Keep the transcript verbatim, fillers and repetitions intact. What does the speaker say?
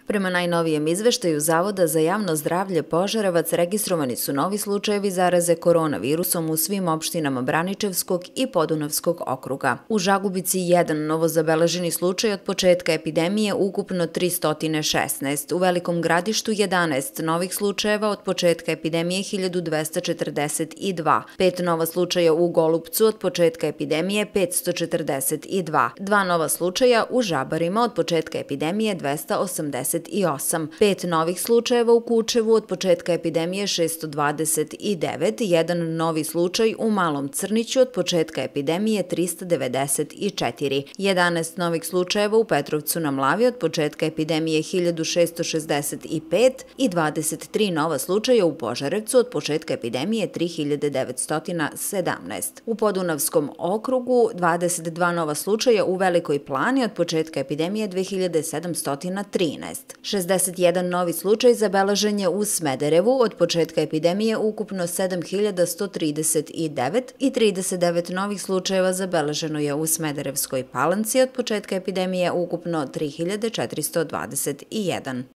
Prema najnovijem izveštaju Zavoda za javno zdravlje Požarevac registrovani su novi slučajevi zaraze koronavirusom u svim opštinama Braničevskog i Podunavskog okruga. U Žagubici jedan novozabeleženi slučaj od početka epidemije, ukupno tristo šesnaest. U Velikom Gradištu jedanaest novih slučajeva od početka epidemije hiljadu dvesta četrdeset dva. Pet nova slučaja u Golupcu od početka epidemije petsto četrdeset dva. Dva nova slučaja u Žabarima od početka epidemije dvesta osamdeset osam. Pet novih slučajeva u Kučevu od početka epidemije šessto dvadeset devet. Jedan novi slučaj u Malom Crniću od početka epidemije trista devedeset četiri. jedanaest novih slučajeva u Petrovcu na Mlavi od početka epidemije hiljadu šessto šezdeset pet i dvadeset tri nova slučaja u Požarevcu od početka epidemije tri hiljade devetsto sedamnaest. U Podunavskom okrugu dvadeset dva nova slučaja u Velikoj Plani od početka epidemije dve hiljade sedamsto trinaest. šezdeset jedan novi slučaj zabeležen je u Smederevu od početka epidemije, ukupno sedam hiljada sto trideset devet i trideset devet novih slučajeva zabeleženo je u Smederevskoj Palanci od početka epidemije, ukupno tri hiljade četiristo dvadeset jedan.